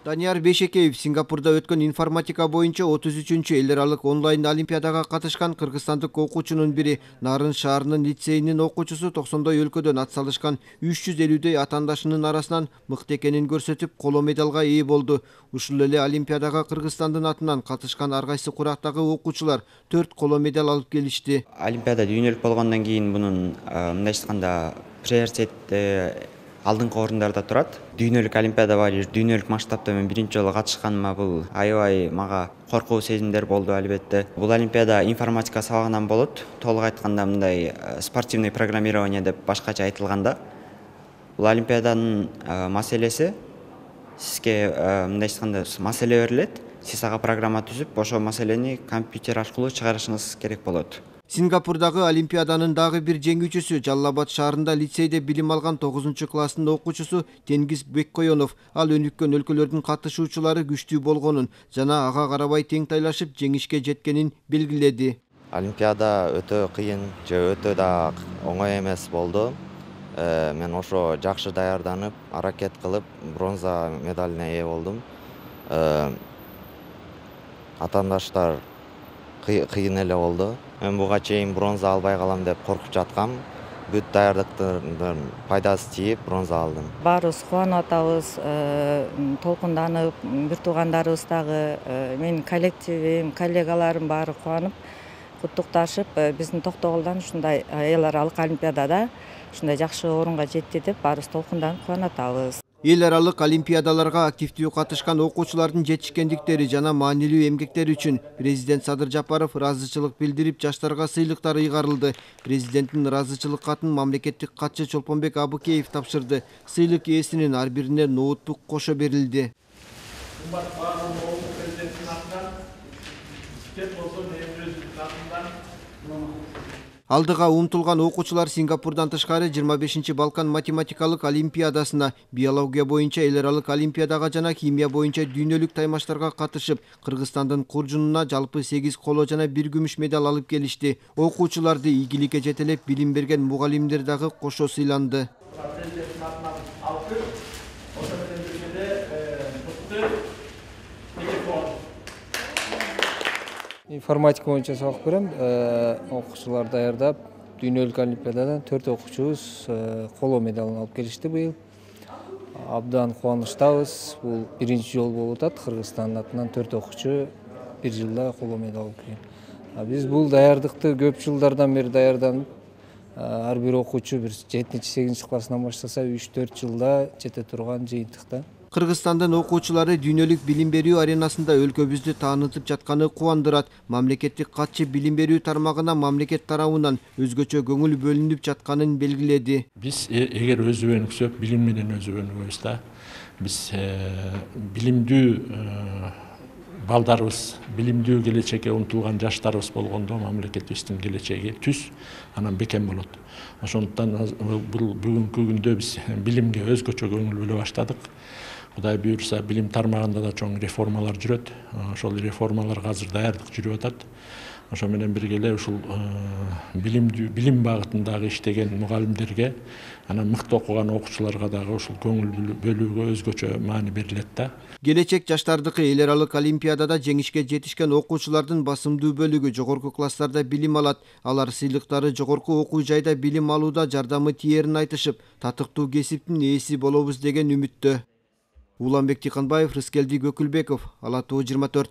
Данияр Бейшекеев Сингапурда өткөн информатика боюнча 33-чү эл аралык онлайн олимпиадага катышкан кыргызстандык окуучунун бири. Нарын шаарынын лицейинин окуучусу 90 өлкөдөн ат салышкан 350дөй атаандашынын арасынан мыкты экенин көрсөтүп, коло медалга ээ болду. Ушул эле олимпиадага Кыргызстандын атынан катышкан ар кайсы курактагы окуучулар 4 коло медаль алып келишти. Олимпиада дүйнөлүк болгондон кийин мындай айтканда приоритет алдыңкы орундарда турат. Дүйнөлүк олимпиада бар, дүйнөлүк масштабта мен биринчи жолу катышканыма бул аябай мага коркуу сезимдер болду албетте. Бул олимпиада информатика сабагынан болот. Толук айтканда мындай спортивный программирование деп башкача айтылганда, бул олимпиаданын маселеси сизге мындай айтканда маселе берилет. Сиз ага программа түзүп, ошол маселени компьютер аркылуу чыгарышыңыз керек болот. Сингапурдагы олимпиаданын дагы бир жеңүүчүсү Жалал Абад шаарында лицейде билим алган 9-класстын окуучусу Тенгиз Беккоенов. Ал өнүккөн өлкөлөрдүн катышуучулары күчтүү болгонун жана ага карабай тең тайлашып жеңишке жеткенин белгиледи. Олимпиада өтө кыйын же өтө да оңой эмес болду. Мен ошо жакшы даярданып, аракет кылып, бронза медалине ээ болдум. Атаандаштар кыйын эле болду. Мен буга чейин бронза албай калам деп коркуп жаткам. Бүт даярдыктын пайдасы тийип бронза алдым. Баарыбыз кубанып атабыз, толкунданып, бир туугандарыбыз дагы, менин коллективим, коллегаларым баары кубанып, куттукташып, биздин Токтогулдан ушундай эл аралык олимпиадада ушундай жакшы орунга жетти деп баарыбыз толкунданып кубанып атабыз. Эл аралык олимпиадаларга активдүү катышкан окуучулардын жетишкендиктери жана маанилүү эмгектери үчүн президент Садыр Жапаров ыраазычылык билдирип, жаштарга сыйлыктар ыйгарылды. Президенттин ыраазычылык катын мамлекеттик катчы Чолпонбек Абыкеев тапшырды. Сыйлык ээсинин ар бирине ноутбук кошо берилди. Алдыга умтулган окуучулар Сингапурдан тышкары 25-чи Балкан математикалык олимпиадасына, биология боюнча эл аралык олимпиадага жана химия боюнча дүйнөлүк таймаштарга катышып, Кыргызстандын куржунуна жалпы 8 коло жана 1 күмүш медаль алып келишти. Окуучуларды ийгиликке жетелеп билим берген мугалимдер дагы кошо сыйланды. Информатика боюнча сабак берем. Окуучулар даярдап, дүйнөлүк олимпиададан 4 окуучубуз коло медалын алып келишти быйыл. Абдан кубанычтабыз. Бул биринчи жолу болуп атат. Кыргызстандын атынан 4 окуучу бир жылда коло медаль алып келген. Биз бул даярдыкты көп жылдардан бери даярданып, ар бир окуучу бир 7-8 классынан баштаса 3-4 жылда жете турган жыйынтыкта. Кыргызстандын окуучулары дүйнөлүк билим берүү аренасында өлкөбүздү таанытып жатканы кубандырат. Мамлекеттик катчы билим берүү тармагына мамлекет тарабынан өзгөчө көңүл бөлүнүп жатканын белгиледи. Биз эгер өзүбөнүксөк, билим менен өзүбөнүкпүз да. Биз билимдүү балдарыбыз, билимдүү келечекке умтулган жаштарыбыз болгондо мамлекетибиздин келечеги түз, анан бекем болот. Ошондуктан бул бүгүнкү күндө биз билимге өзгөчө көңүл бөлө баштадык. Кудай буюрса, билим тармагында да чоң реформалар жүрөт. Ошол реформаларга азыр даярдык жүрүп атат. Ошо менен бирге эле ушул билим багытындагы иштеген мугалимдерге, анан мыкты окуган окуучуларга дагы ушул көңүл бөлүүгө өзгөчө маани берилет да. Келечек жаштардыкы эл аралык олимпиадада жеңишке жетишкен окуучулардын басымдуу бөлүгү жогорку класстарда билим алат. Алар сыйлыктары жогорку окуу жайда билим алууда жардамы тиерин айтышып, татыктуу кесиптин ээси болобуз деген үмүттө. Уланбек Тиканбаев, Рыскелди Көкүлбеков, Ала Тоо 24.